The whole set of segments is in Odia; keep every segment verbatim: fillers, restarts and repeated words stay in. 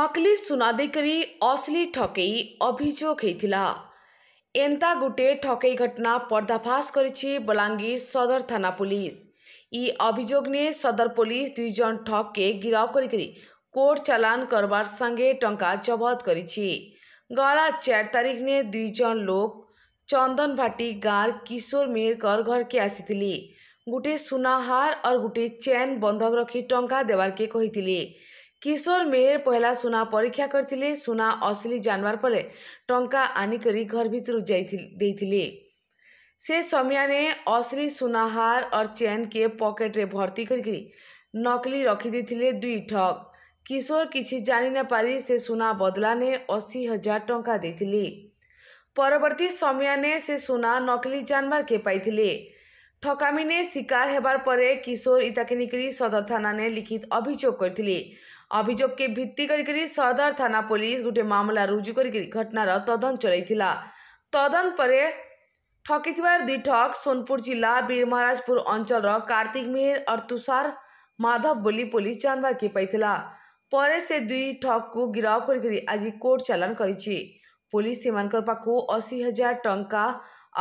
ନକଲି ସୁନା ଦେଇକରି ଅସଲି ଠକେଇ ଅଭିଯୋଗ ହେଇଥିଲା। ଏନ୍ତା ଗୁଟେ ଠକେଇ ଘଟଣା ପର୍ଦ୍ଦାଫାଶ କରିଛି ବଲାଙ୍ଗୀର ସଦର ଥାନା ପୁଲିସ। ଇ ଅଭିଯୋଗ ନେ ସଦର ପୋଲିସ ଦୁଇ ଜଣ ଠକକେ ଗିରଫ କରିକରି କୋର୍ଟ ଚାଲାଣ କରବାର ସାଙ୍ଗେ ଟଙ୍କା ଜବତ କରିଛି। ଗଲା ଚାର ତାରିଖ ନେ ଦୁଇ ଜଣ ଲୋକ ଚନ୍ଦନଭାଟି ଗାଁର କିଶୋର ମେହେରକର ଘରକେ ଆସିଥିଲେ। ଗୁଟେ ସୁନାହାର और ଗୁଟେ ଚେନ୍ ବନ୍ଧକ ରଖି ଟଙ୍କା ଦେବାର୍କେ କହିଥିଲେ। କିଶୋର ମେହେର ପହଲା ସୁନା ପରୀକ୍ଷା କରିଥିଲେ। ସୁନା ଅସଲି ଜାନବାର ପରେ ଟଙ୍କା ଆନିକରି ଘର ଭିତରୁ ଯାଇ ଦେଇଥିଲେ। ସେ ସମୟାନେ ଅସଲି ସୁନାହାର और ଚେନ୍ କେ ପକେଟରେ ଭର୍ତ୍ତି କରିକରି ନକଲି ରଖିଦେଇଥିଲେ ଦୁଇ ଠକ। କିଶୋର କିଛି ଜାଣି ନ ପାରି ସେ ସୁନା ବଦଲାନେ ଅଶୀ ହଜାର ଟଙ୍କା ଦେଇଥିଲେ। ପରବର୍ତ୍ତୀ ସମୟାନେ ସେ ସୁନା ନକଲି ଜାନବାରକେ ପାଇଥିଲେ। ଠକାମିନେ ଶିକାର ହେବାର ପରେ କିଶୋର ଇତାକେ ନେଇକରି ସଦର ଥାନାନେ ଲିଖିତ ଅଭିଯୋଗ କରିଥିଲେ। ଅଭିଯୋଗକେ ଭିତ୍ତି କରିକରି ସଦର ଥାନା ପୋଲିସ ଗୋଟେ ମାମଲା ରୁଜୁ କରିକରି ଘଟଣାର ତଦନ୍ତ ଚଳାଇଥିଲା। ତଦନ୍ତ ପରେ ଠକିଥିବା ଦୁଇ ଠକ ସୋନପୁର ଜିଲ୍ଲା ବୀରମହାରାଜପୁର ଅଞ୍ଚଳର କାର୍ତ୍ତିକ ମେହେର और ତୁଷାର ମାଧବ ବୋଲି ପୋଲିସ ଜାନବାରକେ ପାଇଥିଲା। ପରେ ସେ ଦୁଇ ଠକକୁ ଗିରଫ କରିକରି ଆଜି କୋର୍ଟ ଚାଲାଣ କରିଛି। ପୋଲିସ ସେମାନଙ୍କର ପାଖକୁ ଅଶୀ ହଜାର ଟଙ୍କା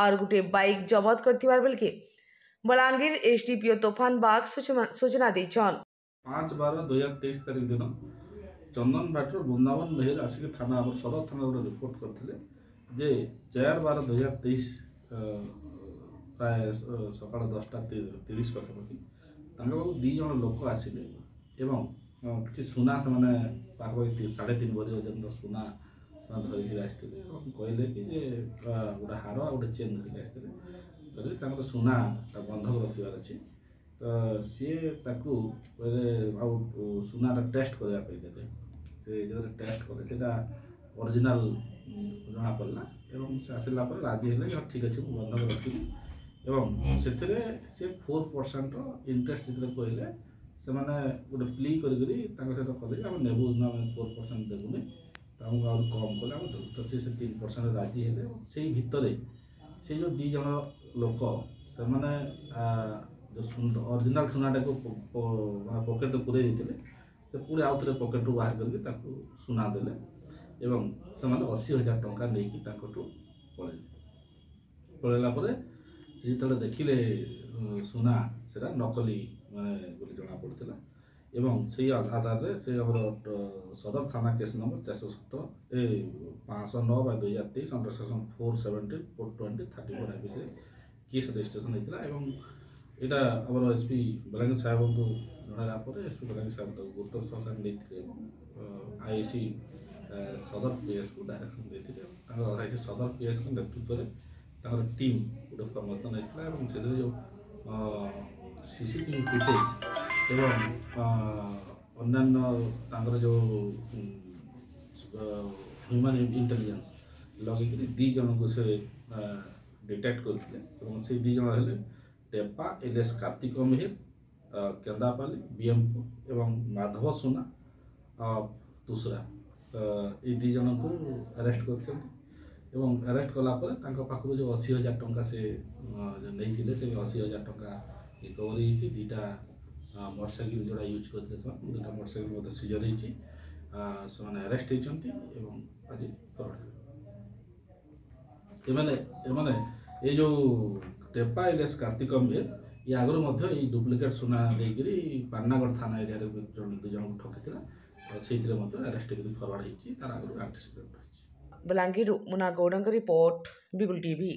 और ଗୋଟେ ବାଇକ୍ ଜବତ କରିଥିବାର ବେଲକେ ବଲାଙ୍ଗୀର ଏସଡିପିଓ ତୋଫାନ ବାଗ ସୂଚନା ଦେଇଛନ୍। ପାଞ୍ଚ ବାର ଦୁଇ ହଜାର ତେଇଶ ତାରିଖ ଦିନ ଚନ୍ଦନ ଭାଟରୁ ବୃନ୍ଦାବନ ମେହେର ଆସିକି ଥାନା, ଆମର ସଦର ଥାନା ଗୋଟେ ରିପୋର୍ଟ କରିଥିଲେ ଯେ ଚାରି ବାର ଦୁଇ ହଜାର ତେଇଶ ପ୍ରାୟ ସକାଳ ଦଶଟା ତିରିଶ ପାଖାପାଖି ତାଙ୍କ ପାଖକୁ ଦୁଇ ଜଣ ଲୋକ ଆସିଲେ ଏବଂ କିଛି ସୁନା ସେମାନେ ପାଖାପାଖି ସାଢ଼େ ତିନି ଭରି ଓଜନର ସୁନା ସେମାନେ ଧରିକିରି ଆସିଥିଲେ ଏବଂ କହିଲେ କି ଯେ ଗୋଟେ ହାର ଆଉ ଗୋଟେ ଚେନ୍ ଧରିକି ଆସିଥିଲେ। କହିଲେ ତାଙ୍କର ସୁନା ବନ୍ଧକ ରଖିବାର ଅଛି। ତ ସିଏ ତାକୁ କହିଲେ ଆଉ ସୁନାଟା ଟେଷ୍ଟ କରିବା ପାଇଁ ଦେଲେ। ସେ ଯେତେବେଳେ ଟେଷ୍ଟ କଲେ, ସେଇଟା ଅରିଜିନାଲ୍ ଜଣାପଡ଼ିଲା ଏବଂ ସେ ଆସିଲା ପରେ ରାଜି ହେଲେ ଯେ ଠିକ୍ ଅଛି, ମୁଁ ବନ୍ଧକ ରଖିବି। ଏବଂ ସେଥିରେ ସେ ଫୋର୍ ପରସେଣ୍ଟର ଇଣ୍ଟରେଷ୍ଟ ଯେତେବେଳେ କହିଲେ, ସେମାନେ ଗୋଟେ ପ୍ଲି କରିକରି ତାଙ୍କ ସହିତ କଲେ ଯେ ଆମେ ନେବୁ ନା, ଆମେ ଫୋର୍ ପରସେଣ୍ଟ ଦେବୁନି, ତ ଆମକୁ ଆହୁରି କମ୍ କଲେ ଆମେ ଦେବୁ। ତ ସେ ସେ ତିନି ପରସେଣ୍ଟ ରାଜି ହେଲେ ଏବଂ ସେଇ ଭିତରେ ସେ ଯେଉଁ ଦୁଇ ଜଣ ଲୋକ, ସେମାନେ ଯେଉଁ ଅରିଜିନାଲ୍ ସୁନାଟାକୁ ପକେଟରେ ପୁରେଇ ଦେଇଥିଲେ, ସେ ପୁଣି ଆଉ ଥରେ ପକେଟରୁ ବାହାର କରିକି ତାକୁ ସୁନା ଦେଲେ ଏବଂ ସେମାନେ ଅଶୀ ହଜାର ଟଙ୍କା ନେଇକି ତାଙ୍କଠୁ ପଳେଇଲେ। ପଳେଇଲା ପରେ ସେ ଯେତେବେଳେ ଦେଖିଲେ ସୁନା, ସେଟା ନକଲି ମାନେ ବୋଲି ଜଣାପଡ଼ିଥିଲା। ଏବଂ ସେଇ ଆଧାରରେ ସେ ଆମର ସଦର ଥାନା କେସ୍ ନମ୍ବର ଚାରିଶହ ସତର ଏ ପାଞ୍ଚଶହ ନଅ ବାଇ ଦୁଇ ହଜାର ତେଇଶ under section four seventy, four twenty, thirty four ଆଇପିସିରେ case registration ହେଇଥିଲା। ଏବଂ ଏଇଟା ଆମର ଏସ୍ ପି ବଲାଙ୍ଗୀର ସାହେବଙ୍କୁ ଜଣାଇଲା ପରେ ଏସ୍ ପି ବଲାଙ୍ଗୀର ସାହେବ ତାକୁ ଗୁରୁତ୍ୱ ସହକାରେ ନେଇଥିଲେ ଏବଂ I I C ସଦର ପିଏସ୍କୁ ଡାଇରେକ୍ସନ୍ ଦେଇଥିଲେ। ତାଙ୍କର I C ସଦର ପିଏସ୍ଙ୍କ ନେତୃତ୍ୱରେ ତାଙ୍କର ଟିମ୍ ଗୋଟେ ଫର୍ମେସନ୍ ହେଇଥିଲା ଏବଂ ସେଥିରେ ଯେଉଁ C C T V footage ଏବଂ ଅନ୍ୟାନ୍ୟ ତାଙ୍କର ଯେଉଁ ହ୍ୟୁମାନ୍ ଇଣ୍ଟେଲିଜେନ୍ସ ଲଗେଇକିରି ଦୁଇ ଜଣଙ୍କୁ ସେ ଡିଟେକ୍ଟ କରିଥିଲେ। ଏବଂ ସେଇ ଦୁଇ ଜଣ ହେଲେ ଟେପା ଏଲିୟସ୍ କାର୍ତ୍ତିକ ମେହେର, କେନ୍ଦାପାଲି ବିଏମପୁର ଏବଂ ମାଧବ ସୁନା ତୁଷରା, ଏଇ ଦୁଇ ଜଣଙ୍କୁ ଆରେଷ୍ଟ କରିଛନ୍ତି। ଏବଂ ଆରେଷ୍ଟ କଲା ପରେ ତାଙ୍କ ପାଖରୁ ଯେଉଁ ଅଶୀ ହଜାର ଟଙ୍କା ସେ ନେଇଥିଲେ, ସେ ଅଶୀ ହଜାର ଟଙ୍କା ରିକଭରି ହେଇଛି। ଦୁଇଟା ମୋଟରସାଇକେଲ ଯେଉଁଟା ୟୁଜ୍ କରିଥିଲେ ସେମାନେ, ଦୁଇଟା ମୋଟରସାଇକେଲ ମଧ୍ୟ ସିଜର ହେଇଛି। ସେମାନେ ଆରେଷ୍ଟ ହେଇଛନ୍ତି ଏବଂ ଆଜି ଫରୱାର୍ଡ଼। ଏମାନେ ଏମାନେ ଏଇ ଯେଉଁ ଟେପା ଏଲିୟସ୍ କାର୍ତ୍ତିକ ମେହେର, ଇଏ ଆଗରୁ ମଧ୍ୟ ଏଇ ଡୁପ୍ଲିକେଟ୍ ସୁନା ଦେଇକରି ପାଟନାଗଡ଼ ଥାନା ଏରିଆରେ ଜଣେ ଦୁଇ ଜଣଙ୍କୁ ଠକିଥିଲା। ସେଇଥିରେ ମଧ୍ୟ ଆରେଷ୍ଟ ହେଇକି ଫରୱାର୍ଡ଼ ହେଇଛି। ତାର ଆଗରୁ ଆଣ୍ଟିସିଡେଣ୍ଟ ରହିଛି। ବଲାଙ୍ଗୀରରୁ ମୁନା ଗୌଡ଼ଙ୍କ ରିପୋର୍ଟ, ବିଗୁଲ ଟିଭି।